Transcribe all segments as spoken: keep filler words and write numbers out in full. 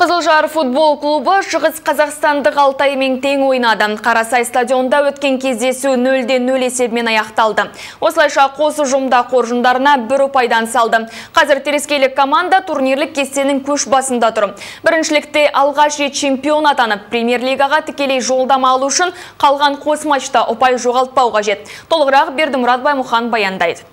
Қызылжар футбол клубы Шығыс Қазақстандық Алтаймен тең ойнады. Қарасай стадионда өткен кездесу нөл-де нөл есебімен аяқталды. Осылайша қос ұжымда қоржындарына бір ұпайдан салды. Қазір терескейлік команда турнирлік кестенің көш басында тұр. Біріншілікте алғаш рет чемпион атанып, премьер-лигаға тікелей жолдама алу үшін қалған қос матчта ұпай жоғалтпау қажет. Толығырақ Бердімұрат Баймұхан баяндайды.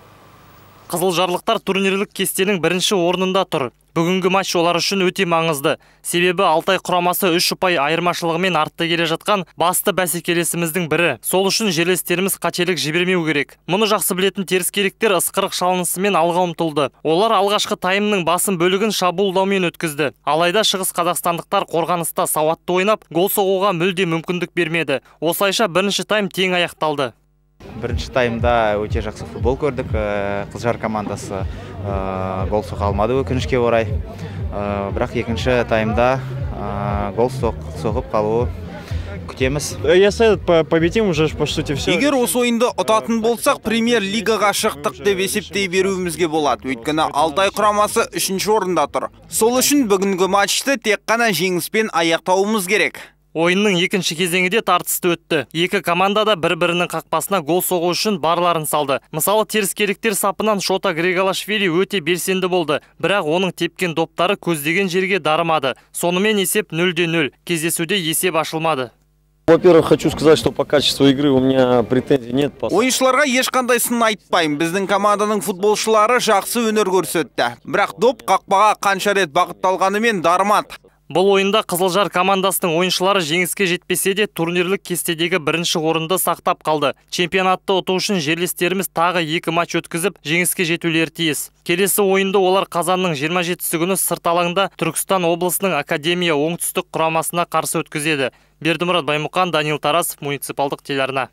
Қызылжарлықтар турнирлік кестенің бірінші орнында тұр. Бүгінгі матч олар үшін өте маңызды. Себебі Алтай құрамасы үш ұпай айырмашылығымен артта келе жатқан басты бәсекелесіміздің бірі. Сол үшін жерлестеріміз қателік жібермеу керек. Мұны жақсы білетін теріскейліктер ысқырық шалынысымен алға ұмтылды. Олар алғашқы таймның басым бөлігін шабуылдаумен өткізді. Алайда шығыс қазақстандықтар қорғаныста сауатты ойнап, гол соғуға мүлде мүмкіндік бермеді. Осылайша бірінші тайм тең аяқталды. Бірінші таймда өте жақсы футбол көрдік. Қызылжар командасы гол соға алмады өкінішке орай. Бірақ екінші таймда гол соғып қалуы күтеміз. Если победим, уже по сути все. Егер осы ойынды ұтатын болсақ, премьер-лигаға шықтық деп есептей беруімізге болады. Өйткені Алтай құрамасы үшінші орында тұр. Сол үшін бүгінгі матчты тек қана жеңіспен аяқтауымыз керек. Ойынның екінші кезеңі де тартысты өтті. Екі команда да бір-бірінің қақпасына гол соғу үшін барларын салды. Мысалы, теріскейліктер сапынан Шота Грегалашвили өте белсенді болды. Бірақ оның тепкен доптары көздеген жерге дарымады. Сонымен есеп нөл-де нөл. Кездесуде есеп ашылмады. Во-первых, хочу сказать, что по качеству игры у меня претензий нет. Ойыншыларға ешқандай сын айтпаймын. Біздің команданың футболшылары жақсы өнер көрсетті. Бірақ доп қақпаға қанша рет бағытталғанымен дарымады. Бұл ойында Қызылжар командасының ойыншылары жеңіске жетпесе де турнирлік кестедегі бірінші орынды сақтап қалды. Чемпионатты ұту үшін жерлестеріміз тағы екі матч өткізіп, жеңіске жетулері тиіс. Келесі ойынды олар қазанның жиырма жетісі күні сырт алаңда Түркістан облысының Академия оңтүстік құрамасына қарсы өткізеді. Бердімұрат Баймұхан, Данил Тарасов, муниципалдық телеарна.